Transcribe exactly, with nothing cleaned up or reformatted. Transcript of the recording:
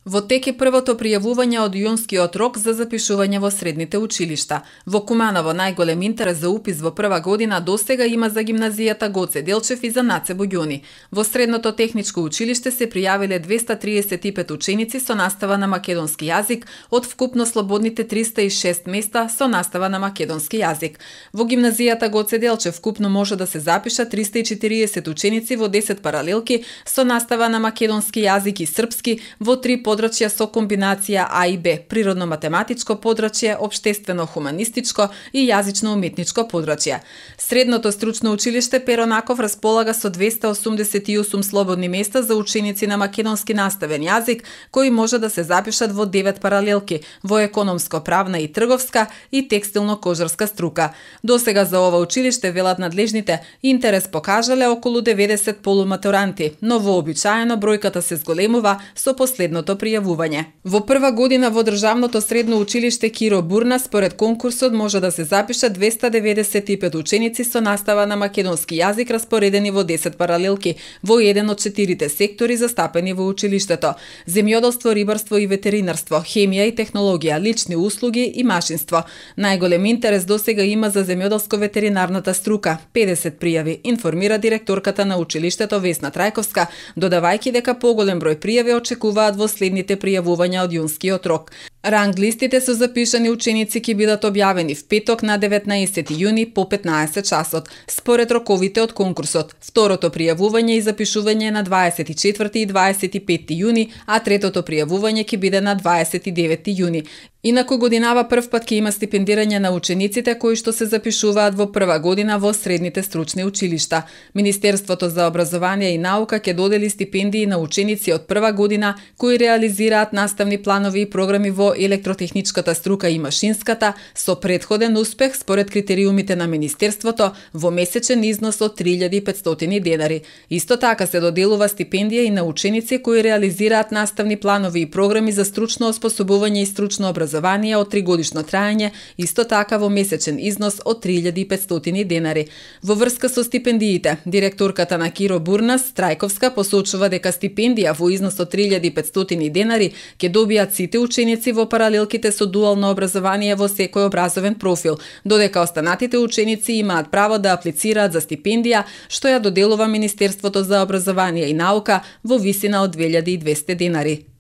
Во тек е првото пријавување од јунскиот рок за запишување во средните училишта. Во Куманово најголем интерес за упис во прва година досега има за гимназијата Гоце Делчев и за Наце Буѓуни. Во средното техничко училиште се пријавиле двеста триесет и пет ученици со настава на македонски јазик од вкупно слободните триста и шест места со настава на македонски јазик. Во гимназијата Гоце Делчев вкупно може да се запишат триста и четириесет ученици во десет паралелки со настава на македонски јазик и српски во три подрачја со комбинација А и Б, природно-математичко подрачје, општествено-хуманистичко и јазично-уметничко подрачје. Средното стручно училиште Перо Наков располага со двеста осумдесет и осум слободни места за ученици на македонски наставен јазик, кои може да се запишат во девет паралелки, во економско, правна и трговска и текстилно-кожарска струка. Досега за ова училиште, велат надлежните, интерес покажале околу деветдесет полуматуранти, но вообичаено бројката се зголемува со последното пријавување. Во прва година во државното средно училиште Киро Бурна според конкурсот може да се запишат двеста деветдесет и пет ученици со настава на македонски јазик распоредени во десет паралелки во еден од четирите сектори застапени во училиштето: земјоделство, рибарство и ветеринарство, хемија и технологија, лични услуги и машинство. Најголем интерес досега има за земјоделско-ветеринарната струка, педесет пријави, информира директорката на училиштето Весна Трајковска, додавајќи дека поголем број пријави очекуваат во следните пријавувања од јунскиот рок. Ранг листите со запишани ученици ќе бидат објавени в петок на деветнаесети јуни по петнаесет часот, според роковите од конкурсот. Второто пријавување и запишување е на дваесет и четврти и дваесет и петти јуни, а третото пријавување ќе биде на дваесет и деветти јуни. Инаку годинава прв пат ќе има стипендирање на учениците кои што се запишуваат во прва година во средните стручни училишта. Министерството за образование и наука ќе додели стипендии на ученици од прва година кои реализираат наставни планови и програми во електротехничката струка и машинската со претходен успех според критериумите на Министерството во месечен износ од три илјади и петстотини денари. Исто така се доделува стипендија и на ученици кои реализираат наставни планови и програми за стручно оспособување и стручно образование од тригодишно траење, исто така во месечен износ од три илјади и петстотини денари. Во врска со стипендиите, директорката на Киро Бурна Трајковска посочува дека стипендија во износ од три илјади и петстотини денари ќе добијат сите ученици во паралелките со дуално образование во секој образовен профил, додека останатите ученици имаат право да аплицираат за стипендија што ја доделува Министерството за образование и наука во висина од две илјади и двесте денари.